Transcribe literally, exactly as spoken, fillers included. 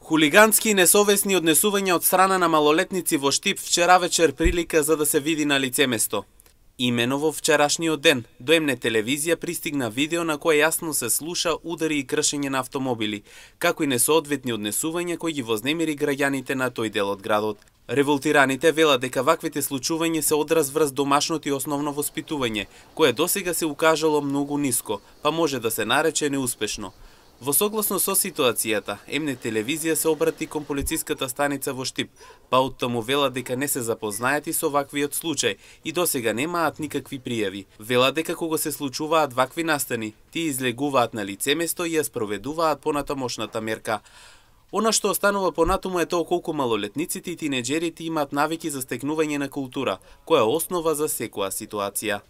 Хулигански и несовесни однесувања од страна на малолетници во Штип вчера вечер прилика за да се види на лице место. Имено во вчерашниот ден до М Н телевизија пристигна видео на кое јасно се слуша удари и кршење на автомобили, како и несоодветни однесувања кои ги вознемири граѓаните на тој дел од градот. Револтираните велат дека ваквите случувања се одраз врз домашното и основно воспитување, кое досега се укажало многу ниско, па може да се нарече неуспешно. Во согласно со ситуацијата, М Н телевизија се обрати кон полициската станица во Штип, па оттаму велат дека не се запознаети со ваквиот случај и досега немаат никакви пријави. Велат дека кога се случуваат вакви настани, тие излегуваат на лице место и ја спроведуваат понатамошната мерка. Она што останува понатаму е тоа колку малолетниците и тинеџерите имаат навики за стекнување на култура, која е основа за секоја ситуација.